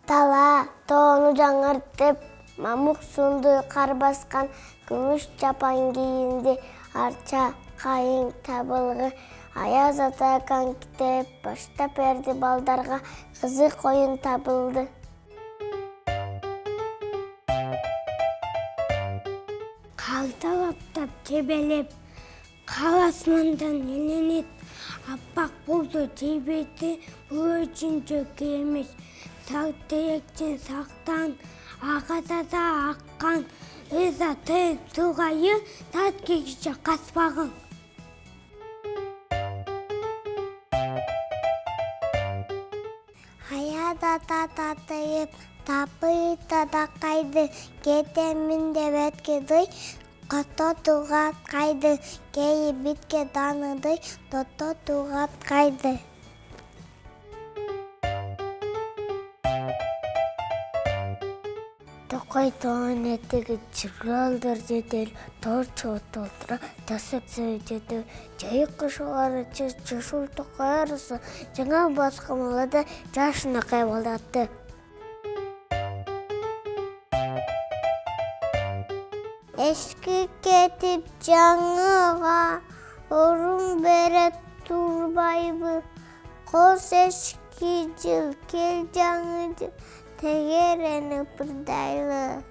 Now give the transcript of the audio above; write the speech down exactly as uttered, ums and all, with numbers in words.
Тала тоону жаңыртып, мамык сунду кар баскан, күмүш чапан кийинди, арча кайың табылгы. Аяз ата конькиде баштап берди балдарга, кызык оюн табылды. Калталаптап тебелеп, кал асмандан эленет, аппак болду тийбейти, бул өчүнчөкү эмес. Сак теректен сактан, ага таза аккан, ыза тез сулгайы, тат кийгиче каспагын. Аяз ата татыйып, тапый тадакайды, кетемин деп эткидий, кототууга кайды, кейи битке дааныдый, тототууга кайды. Токой тоонун этеги чыргалдар жетел, тор чогут олтура, жасаксы жети, жайык кышылары жашыл токой арысы, жаңа баскымалада жашына кайбалдатты. Эски кетип жаңыга, орун бере турбайбы, коз эски жыл, кел жаңы жыл, тегеренип ырдайлы.